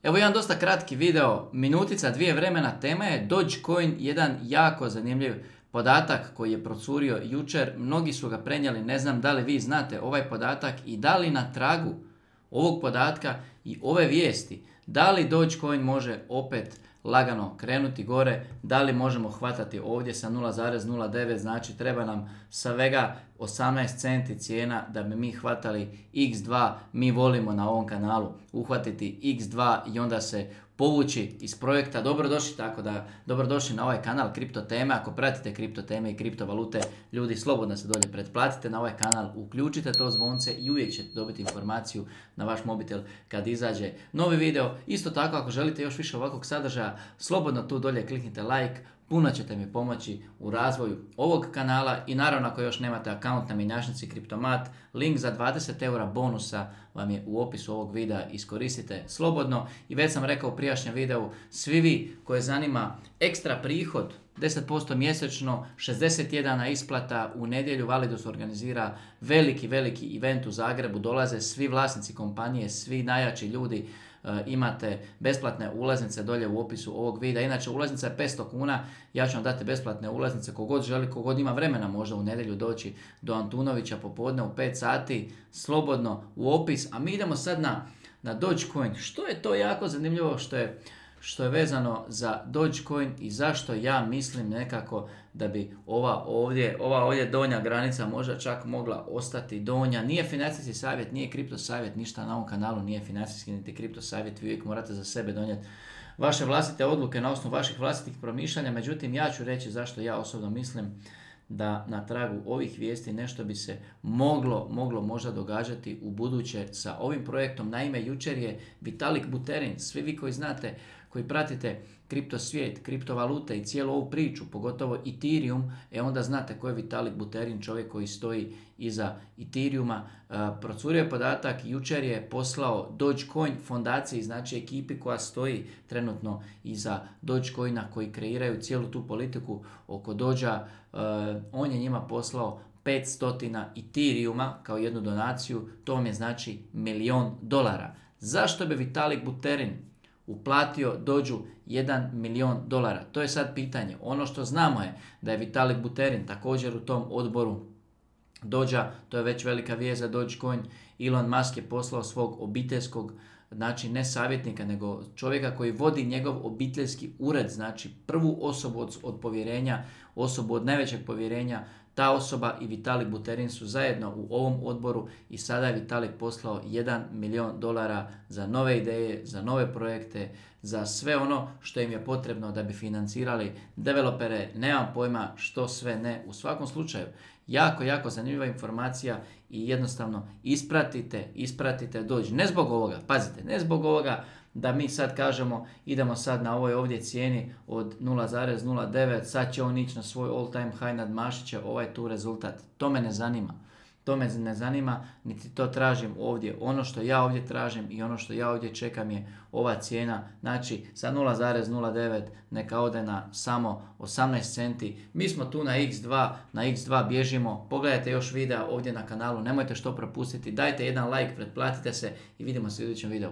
Evo jedan dosta kratki video, minutica, dvije vremena, tema je Dogecoin, jedan jako zanimljiv podatak koji je procurio jučer, mnogi su ga prenijeli, ne znam da li vi znate ovaj podatak i da li na tragu ovog podatka i ove vijesti, da li Dogecoin može opet lagano krenuti gore, da li možemo hvatati ovdje sa 0,09, znači treba nam svega 18 centi cijena da bi mi hvatali X2, mi volimo na ovom kanalu uhvatiti X2 i onda se povući iz projekta. Dobrodošli na ovaj kanal Kripto teme. Ako pratite kripto teme i kriptovalute, ljudi, slobodno se dolje pretplatite na ovaj kanal, uključite to zvonce i uvijek ćete dobiti informaciju na vaš mobitel kad izađe novi video. Isto tako, ako želite još više ovakvog sadržaja, slobodno tu dolje kliknite like, puno ćete mi pomoći u razvoju ovog kanala i naravno ako još nemate akaunt na mjenjačnici Kriptomat, link za 20 eura bonusa vam je u opisu ovog videa, iskoristite slobodno. I već sam rekao u prijašnjem videu, svi vi koje zanima ekstra prihod, 10% mjesečno, 61 isplata, u nedjelju Validus organizira veliki event u Zagrebu, dolaze svi vlasnici kompanije, svi najjači ljudi, imate besplatne ulaznice dolje u opisu ovog videa. Inače, ulaznica je 500 kuna, ja ću vam dati besplatne ulaznice, kogod želi, kogod ima vremena možda u nedjelju doći do Antunovića popodne u 5 sati, slobodno u opis. A mi idemo sad na Dogecoin. Što je to jako zanimljivo što je vezano za Dogecoin i zašto ja mislim nekako da bi ova ovdje donja granica možda čak mogla ostati donja. Nije financijski savjet, nije kripto savjet, ništa na ovom kanalu nije financijski niti kripto savjet, vi uvijek morate za sebe donijeti vaše vlastite odluke na osnovu vaših vlastitih promišljanja. Međutim, ja ću reći zašto ja osobno mislim da na tragu ovih vijesti nešto bi se moglo možda događati u buduće sa ovim projektom. Naime, jučer je Vitalik Buterin, svi vi koji znate, koji pratite kripto svijet, kriptovalute i cijelu ovu priču, pogotovo Ethereum, onda znate ko je Vitalik Buterin, čovjek koji stoji iza Ethereuma. Procurio je podatak, jučer je poslao Dogecoin fondaciji, znači ekipi koja stoji trenutno iza Dogecoina, koji kreiraju cijelu tu politiku oko Dođa. On je njima poslao 500 Ethereuma kao jednu donaciju, to vam je znači $1 000 000. Zašto bi Vitalik Buterin uplatio Dođu $1 000 000? To je sad pitanje. Ono što znamo je da je Vitalik Buterin također u tom odboru Dođa, to je već velika vijest za Dogecoin. Elon Musk je poslao svog obiteljskog, znači ne savjetnika, nego čovjeka koji vodi njegov obiteljski ured, znači prvu osobu od povjerenja, osobu od najvećeg povjerenja. Ta osoba i Vitalik Buterin su zajedno u ovom odboru i sada je Vitalik poslao $1 000 000 za nove ideje, za nove projekte, za sve ono što im je potrebno da bi financirali developere, nemam pojma što sve ne. U svakom slučaju, jako zanimljiva informacija i jednostavno ispratite Doge. Ne zbog ovoga, pazite, ne zbog ovoga da mi sad kažemo idemo sad na ovoj ovdje cijeni od 0,09, sad će on ići na svoj all time high, nadmašit će ovaj tu rezultat. To me ne zanima. To me ne zanima, niti to tražim ovdje. Ono što ja ovdje tražim i ono što ja ovdje čekam je ova cijena. Znači, sa 0,09 neka ode na samo 18 centi. Mi smo tu na X2 bježimo. Pogledajte još videa ovdje na kanalu, nemojte što propustiti. Dajte jedan like, pretplatite se i vidimo se u idućem videu.